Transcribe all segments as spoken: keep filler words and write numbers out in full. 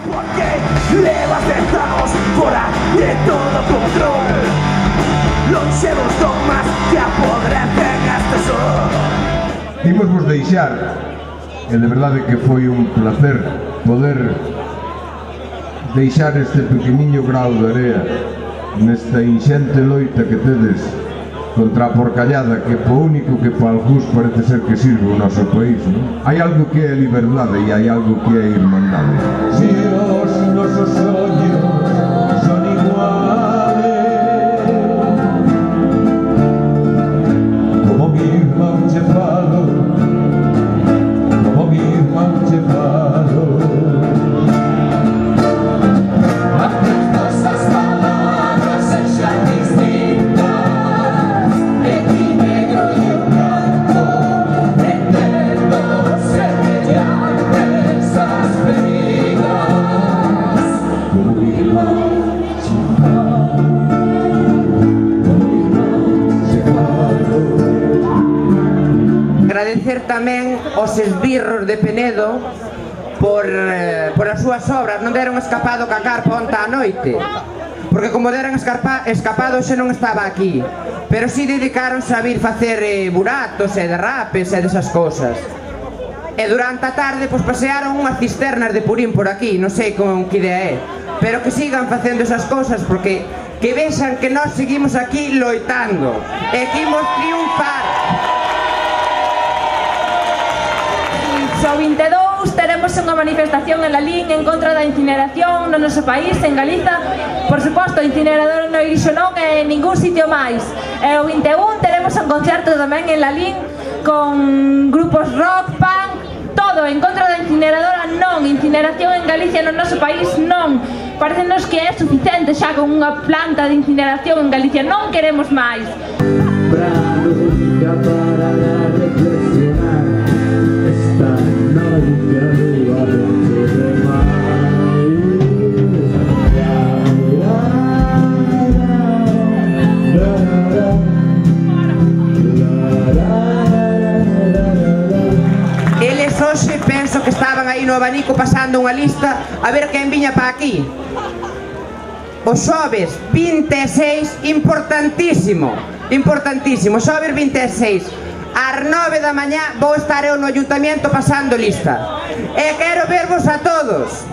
Porque levas dez anos fora de todo control. Lonxevos dogmas que apodrecen este sol. Imos vos deixar, e de verdade que foi un placer poder deixar este pequeniño grau de area nesta inxente loita que tedes contra a porcallada que po único que pa algúns parece ser que sirve o noso país, non? Hai algo que é liberdade e hai algo que é irmandade. Si os nosos soños son iguales, como mi irmán che falo, como mi irmán che falo. Agradecer tamén aos esbirros de Penedo por, eh, por as súas obras. Non deron escapado ca carpa onta a noite, porque como deron escapa, escapado xe non estaba aquí, pero si dedicaronse a vir facer eh, buratos e derrapes e desas cosas. E durante a tarde pois, pasearon unhas cisternas de Purín por aquí, non sei con que idea é, pero que sigan facendo esas cosas, porque que vexan que nós seguimos aquí loitando e que imos triunfar. O vinte e dous teremos unha manifestación en Lalín en contra da incineración no noso país, en Galiza. Por suposto, o incinerador non irixo non é en ningún sitio máis. E o vinte e un teremos un concerto tamén en Lalín con grupos rock, punk, todo en contra da incineradora. Non, incineración en Galicia no noso país non. Parecenos que é suficiente xa con unha planta de incineración en Galicia, non queremos máis. Para nunca parar a reflexionar. Esta noite a lúa vence de máis. Eles hoxe penso que estaban aí no abanico pasando unha lista a ver quen viña pa aquí. O xoves vinte e seis, importantísimo, importantísimo, xoves vinte e seis ás nove da mañá vou estar eu no Ayuntamiento pasando lista e quero vervos a todos.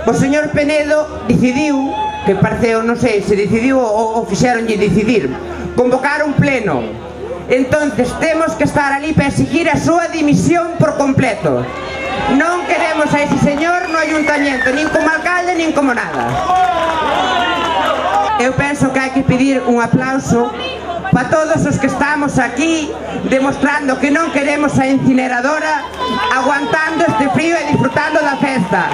O señor Penedo decidiu, que pareceu, non sei se decidiu ou, ou fixeronlle decidir, convocar un pleno. Entonces temos que estar ali para exigir a súa dimisión por completo. Non queremos a ese señor no Ayuntamiento, nin como alcalde, nin como nada. Eu penso que hai que pedir un aplauso para todos os que estamos aquí demostrando que non queremos a incineradora, aguantando este frío e disfrutando da festa.